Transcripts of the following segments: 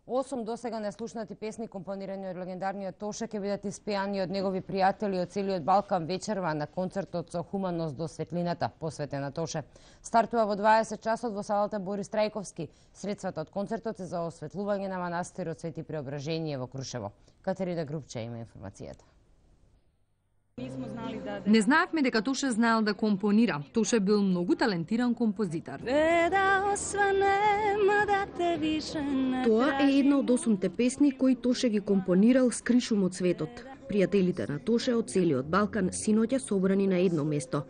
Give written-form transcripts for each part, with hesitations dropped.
8 досега неслушнати песни компонирани од легендарниот Тоше ќе бидат испеани од негови пријатели од целиот Балкан вечерва на концертот со хуманост до светлината, посветен на Тоше. Стартува во 20 часот во салата Борис Трајковски. Средствата од концертот се за осветлување на манастирот Свети Преображение во Крушево. Катерина Грубче има информацијата. Не знаевме дека Тоше знаел да компонира. Тоше бил многу талентиран композитор. Тоа е една од 8 песни кои Тоше ги компонирал с кришум од светот. Пријателите на Тоше од целиот Балкан синоќа собрани на едно место.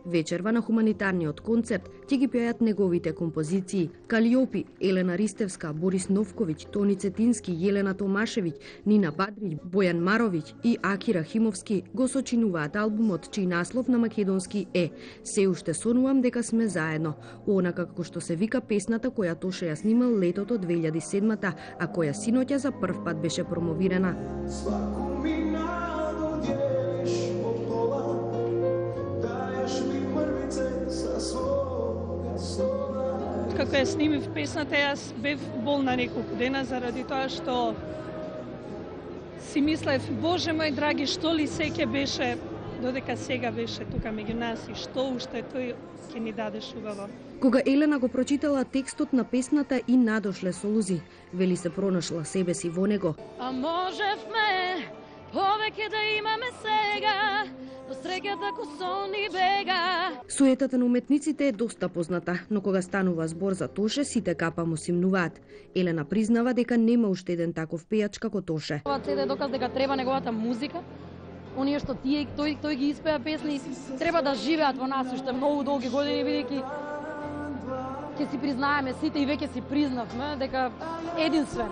Вечерва на хуманитарниот концерт ќе ги пеат неговите композиции. Калиопи, Елена Ристевска, Борис Новковиќ, Тони Цетински, Јелена Томашевиќ, Нина Бадрич, Бојан Маровиќ и Аки Рахимовски го сочинуваат албумот чиј наслов на македонски е "Се уште сонувам дека сме заедно", онака како што се вика песната која Тоше ја снимал летото 2007-та, а која синоќа за прв пат беше промовирана. Како ја снимив песната, јас бев болна неколку дена заради тоа што си мислев, Боже мој драги, што ли се ќе беше, додека сега беше тука меѓу нас и што уште тој ќе ни дадеш убаво. Кога Елена го прочитала текстот на песната и надошле солузи, вели се пронашла себе си во него. А можевме повеќе да имаме сега, до среќата ко сон ни бега. Суетата на уметниците е доста позната, но кога станува збор за Тоше, сите капа му симнуваат. Елена признава дека нема уште еден таков пејач како Тоше. Ова CD е доказ дека треба неговата музика. Оние што тој ги испеа песни, треба да живеат во нас уште многу долги години, бидејќи ќе си признаеме сите и веќе си признавме дека единствен,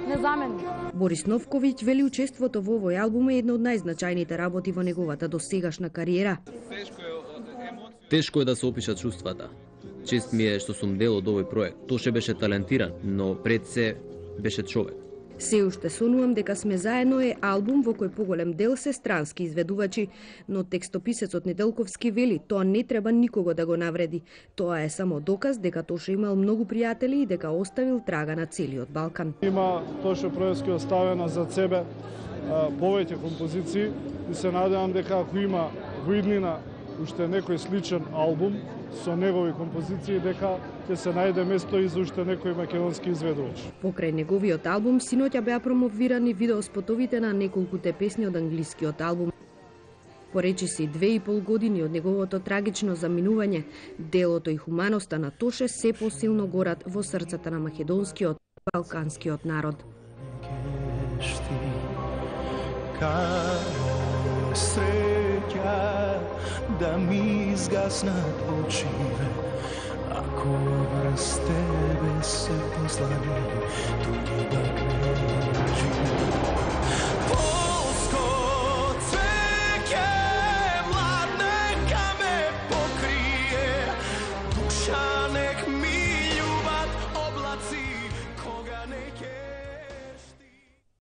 незаменен. Борис Новковиќ вели учеството во овој албум е една од најзначајните работи во неговата досегашна кариера. Тешко е да се опишат чувствата. Чест ми е што сум дел од овој проект. Тоше беше талентиран, но пред се беше човек. Се уште сонувам дека сме заедно е албум во кој поголем дел се странски изведувачи, но текстописецот Неделковски вели тоа не треба никого да го навреди. Тоа е само доказ дека Тоше имал многу пријатели и дека оставил трага на целиот Балкан. Има Тоше Проевски оставена за себе повеќе композиции и се надевам дека ако има во иднина уште некој сличен албум со негови композиции, дека ќе се најде место и за уште некој македонски изведувач. Покрај неговиот албум, синоќа беа промовирани видеоспотовите на неколкуте песни од англискиот албум. Поречиси 2,5 години од неговото трагично заминување, делото и хуманоста на Тоше се посилно горат во срцата на македонскиот, балканскиот народ. Среќа да ми изгаснат очите, ако врз тебе се послани, туѓи